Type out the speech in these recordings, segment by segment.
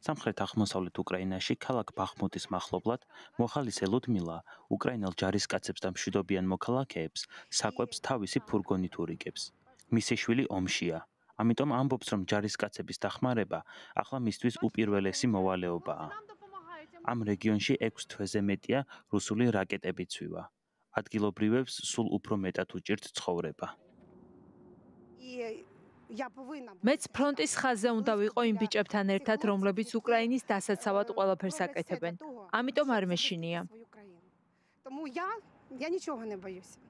სამხრეთ-აღმოსავლეთ უკრაინაში ქალაქ ბახმუტის მახლობლად მოხალისე ლუდმილა უკრაინელ ჯარისკაცებს და მშვიდობიან მოქალაქეებს საკვებს თავისი ფურგონით ურიგებს. მისი შვილი ომშია, ამიტომ ამბობს, რომ ჯარისკაცების დახმარება ახლა მისთვის უპირველესი მოვალეობაა. ამ რეგიონში 6 თვეზე მეტია რუსული რაკეტები ცვივა. ადგილობრივებს სულ უფრო მეტად უჭირთ ცხოვრება. მეც ფრონტის ხაზზე უნდა ვიყო იმ ბიჭებთან ერთად, რომლებიც უკრაინის დასაცავად ყველაფერს აკეთებენ. ამიტომ არ მეშინია.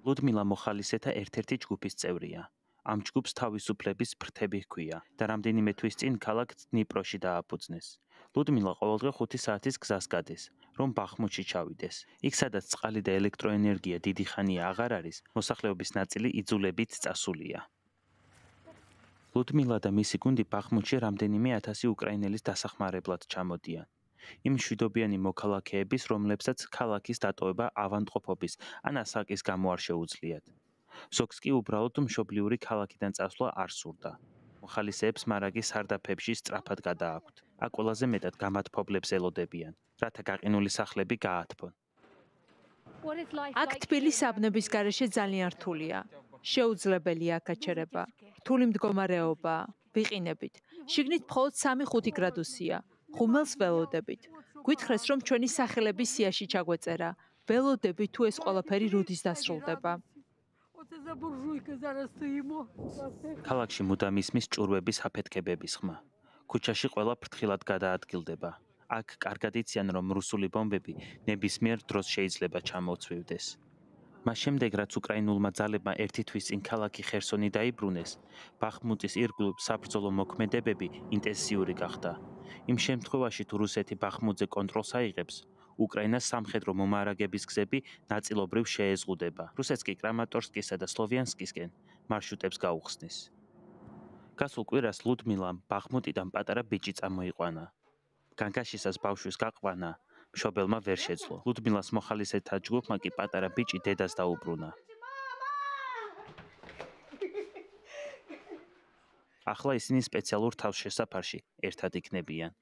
ლუდმილა მოხალისეთა ერთ-ერთი ჯგუფის წევრია. ამ ჯგუფს თავისუფლების ფრთები ჰქვია და რამდენიმე თვის წინ ქალაქ დნიპროში დააფუძნეს. ლუდმილა ყოველდღე 5 საათის გზას გადის, რომ ბახმუტში ჩავიდეს. იქ, სადაც წყალი და ელექტროენერგია დიდი ხანია აღარ არის, მოსახლეობის ნაწილი იძულებით წასულია. ლუდმილა და მისი გუნდი ბახმუტში რამდენიმე 1000 უკრაინელის დასახმარებლად ჩამოდიან. იმ მშვიდობიანი მოქალაქეების, რომლებსაც ქალაქის დატოვება ავადმყოფობის ან ასაკის გამო არ შეუძლიათ. ზოგს კი უბრალოდ მშობლიური ქალაქიდან წასვლა არ სურდა. მოხალისეებს მარაგი სარდაფებში სწრაფად გადააქვთ. აქ ყველაზე მეტად გამათფობლებს ელოდებიან, რათა გაყინული სახლები გაათბონ. აქ თბილი საბნების გარეშე ძალიან რთულია. შეუძლებელია აქაჩერება. რთული მდგომარეობაა. ვიყინებით. შიგნით მხოლოდ 3-5 გრადუსია. ხუმელს ველოდებით. გვითხრეს, რომ ჩვენი სახელები სიაში ჩაგვეწერა. ველოდებით თუ ეს ყველაფერი როდის დასრულდება. ქალაქში მუდამ ისმის ჭურვების აფეთქებების ხმა. ქუჩაში ყველა ფრთხილად გადაადგილდება. აქ კარგად იციან, რომ რუსული ბომბები ნებისმიერ დროს შეიძლება ჩამოწვივდეს. მას შემდეგ, რაც უკრაინულმა ძალებმა ერთი თვის წინ ქალაქი ხერსონი დაიბრუნეს, ბახმუტის ირგვლივ საბრძოლო მოქმედებები ინტენსიური გახდა. იმ შემთხვევაში, თუ რუსეთი ბახმუტზე კონტროლს აიღებს, უკრაინას სამხედრო მომარაგების გზები ნაწილობრივ შეეზღუდება. რუსეთს კი კრამატორსკისა და სლოვიანსკისკენ მარშრუტებს გაუხსნის. გასულ კვირას ლუდმილამ ბახმუტიდან პატარა ბიჭი წამოიყვანა. განგაშისას ბავშვის გაყვანა მშობელმა ვერ შეძლო. ლუდმილას მოხალისეთა ჯგუფმა კი პატარა ბიჭი დედას დაუბრუნა. ახლა ისინი სპეციალურ თავშესაფარში ერთად იქნებიან.